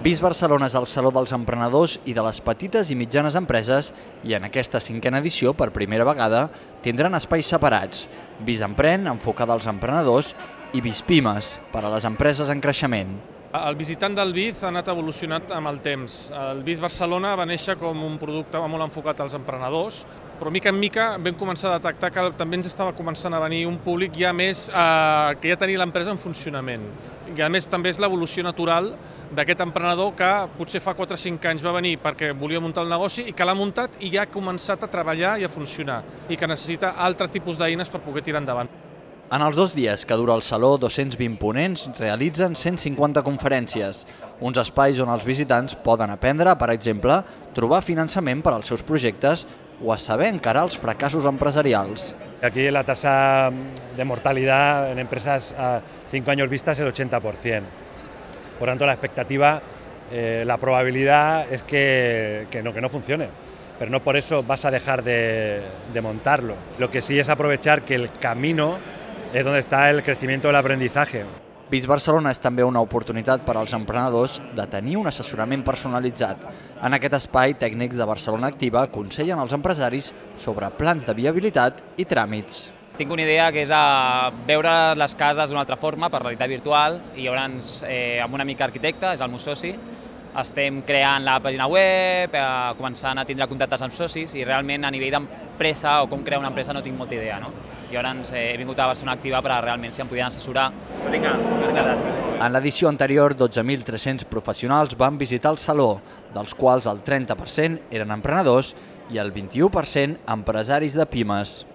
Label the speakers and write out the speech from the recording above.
Speaker 1: BIS Barcelona és el Saló dels Emprenedors i de les petites i mitjanes empreses i en aquesta 5a edició, per primera vegada, tindran espais separats. BIS Emprèn, enfocada als emprenedors, i BIS Pimes, per a les empreses en creixement.
Speaker 2: El visitant del BIS ha anat evolucionant amb el temps. El BIS Barcelona va néixer com un producte molt enfocat als emprenedors, però mica en mica vam començar a detectar que també ens estava començant a venir un públic ja més que ja tenia l'empresa en funcionament. I a més també és l'evolució natural d'aquest emprenedor que potser fa 4 o 5 anys va venir perquè volia muntar el negoci i que l'ha muntat i ja ha començat a treballar i a funcionar i que necessita altres tipus d'eines per poder tirar endavant.
Speaker 1: En els 2 dies que dura el Saló, 220 ponents realitzen 150 conferències, uns espais on els visitants poden aprendre, per exemple, trobar finançament per als seus projectes o a saber encarar els fracassos empresarials.
Speaker 3: Aquí la tasa de mortalidad en empresas a 5 años vista es el 80%. Por tanto, la expectativa, la probabilidad es que no funcione. Pero no por eso vas a dejar de montarlo. Lo que sí es aprovechar que el camino és on està el creixement de l'aprendizaje.
Speaker 1: BIS Barcelona és també una oportunitat per als emprenedors de tenir un assessorament personalitzat. En aquest espai, tècnics de Barcelona Activa aconsellen als empresaris sobre plans de viabilitat i tràmits.
Speaker 4: Tinc una idea que és veure les cases d'una altra forma, per realitat virtual, i llavors amb un amic arquitecte, és el meu soci, estem creant la pàgina web, començant a tindre contactes amb socis i realment a nivell d'empresa o com crear una empresa no tinc molta idea. I llavors he vingut a Barcelona Activa per realment si em podien assessorar.
Speaker 1: En l'edició anterior, 12.300 professionals van visitar el Saló, dels quals el 30% eren emprenedors i el 21% empresaris de pimes.